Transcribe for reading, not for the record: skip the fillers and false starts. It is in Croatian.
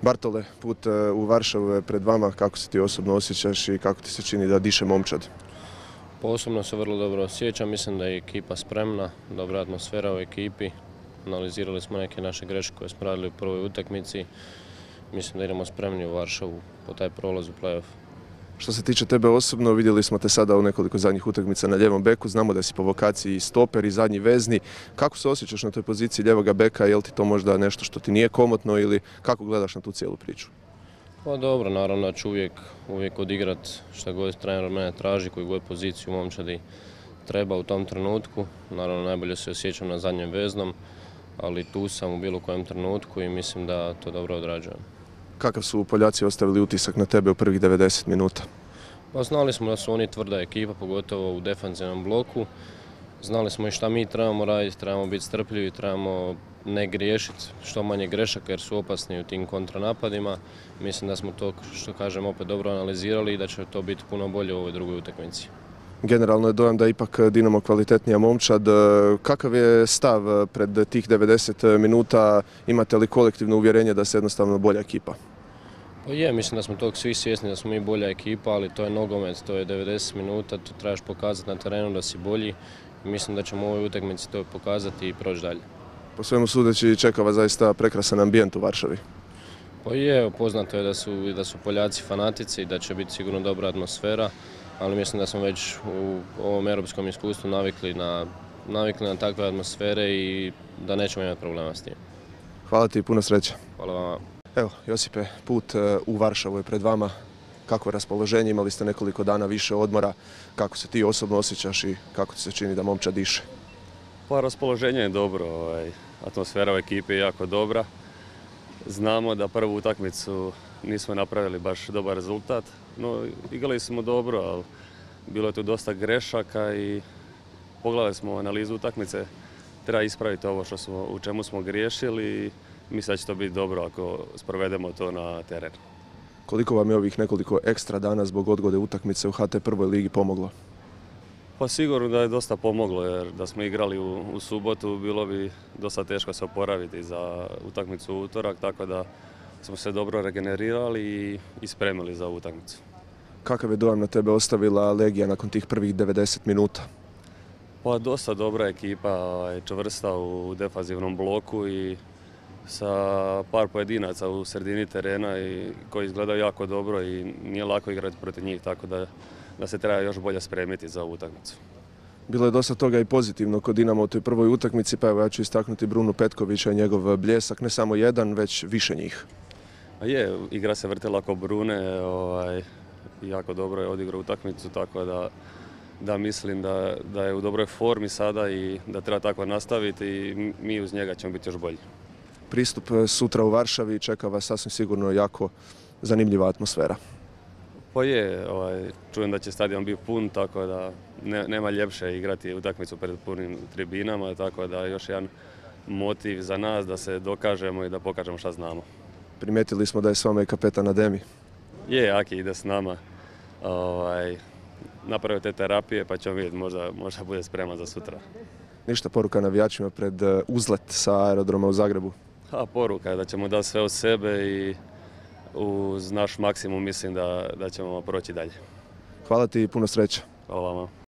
Bartole, put u Varšavu je pred vama. Kako se ti osobno osjećaš i kako ti se čini da diše momčad? Osobno se vrlo dobro osjećam, mislim da je ekipa spremna, dobra atmosfera u ekipi. Analizirali smo neke naše greške koje smo radili u prvoj utakmici. Mislim da idemo spremni u Varšavu po taj prolaz u play-off. Što se tiče tebe osobno, vidjeli smo te sada u nekoliko zadnjih utakmica na ljevom beku. Znamo da si po vokaciji stoper i zadnji vezni. Kako se osjećaš na toj poziciji ljevoga beka? Je li ti to možda nešto što ti nije komotno ili kako gledaš na tu cijelu priču? Pa dobro, naravno da ću uvijek odigrat šta god trener od mene traži, koju god poziciju u momčadi treba u tom trenutku. Naravno najbolje se osjećam na zadnjem veznom, ali tu sam u bilo kojem trenutku i mislim da to dobro odrađujem. Kakav su Poljaci ostavili utisak na tebe u prvih 90 minuta? Pa znali smo da su oni tvrda ekipa, pogotovo u defanzivnom bloku. Znali smo i šta mi trebamo raditi, trebamo biti strpljivi, trebamo ne griješiti, što manje grešaka jer su opasni u tim kontranapadima. Mislim da smo to, što kažem, opet dobro analizirali i da će to biti puno bolje u ovoj drugoj utakmici. Generalno je dojam da je ipak Dinamo kvalitetnija momčad. Kakav je stav pred tih 90 minuta? Imate li kolektivno uvjerenje da se jednostavno bolja ekipa? Pa je, mislim da smo tog svi svjesni da smo mi bolja ekipa, ali to je nogomet, to je 90 minuta, to trebaš pokazati na terenu da si bolji. Mislim da ćemo u ovoj utakmici to pokazati i proći dalje. Po svemu sudeći čeka vas zaista prekrasan ambijent u Varšavi. Pa je, poznato je da su Poljaci fanatici i da će biti sigurno dobra atmosfera, ali mislim da smo već u ovom europskom iskustvu navikli na takve atmosfere i da nećemo imati problema s tim. Hvala ti i puno sreće. Hvala vama. Evo, Josipe, put u Varšavu je pred vama. Kako je raspoloženje? Imali ste nekoliko dana više odmora. Kako se ti osobno osjećaš i kako ti se čini da momčad diše? Pa raspoloženje je dobro, atmosfera u ekipi je jako dobra. Znamo da prvu utakmicu nismo napravili baš dobar rezultat, no igrali smo dobro, ali bilo je tu dosta grešaka i pogledali smo analizu utakmice. Treba ispraviti ovo u čemu smo griješili i mislim da će to biti dobro ako sprovedemo to na teren. Koliko vam je ovih nekoliko ekstra dana zbog odgode utakmice u HT prvoj ligi pomoglo? Pa sigurno da je dosta pomoglo jer da smo igrali u subotu bilo bi dosta teško se oporaviti za utakmicu u utorak, tako da smo se dobro regenerirali i spremili za ovu utakmicu. Kakav je dojam na tebe ostavila Legija nakon tih prvih 90 minuta? Pa dosta dobra ekipa, čvrsta u defanzivnom bloku i sa par pojedinaca u sredini terena i koji izgledaju jako dobro i nije lako igrati protiv njih, tako da se treba još bolje spremiti za ovu utakmicu. Bilo je dosta toga i pozitivno kod Dinama u toj prvoj utakmici, pa evo ja ću istaknuti Brunu Petkovića i njegov bljesak, ne samo jedan, već više njih. Je, igra se vrtela oko Brune, jako dobro je odigrao utakmicu, tako da mislim da je u dobroj formi sada i da treba tako nastaviti i mi uz njega ćemo biti još bolji. Pristup sutra u Varšavi čeka vas sasvim sigurno jako zanimljiva atmosfera. Pa je, čujem da će stadion biti pun, tako da nema ljepše igrati utakmicu pred punim tribinama, tako da još jedan motiv za nas da se dokažemo i da pokažemo šta znamo. Primijetili smo da je s vama i kapetan Ademi. Je, Aki ide s nama. Napravio te terapije pa ćemo vidjeti, možda bude spreman za sutra. Ništa, poruka navijačima pred uzlet sa aerodroma u Zagrebu? Poruka je da ćemo dati sve od sebe i uz naš maksimum mislim da ćemo proći dalje. Hvala ti i puno sreće. Hvala vama.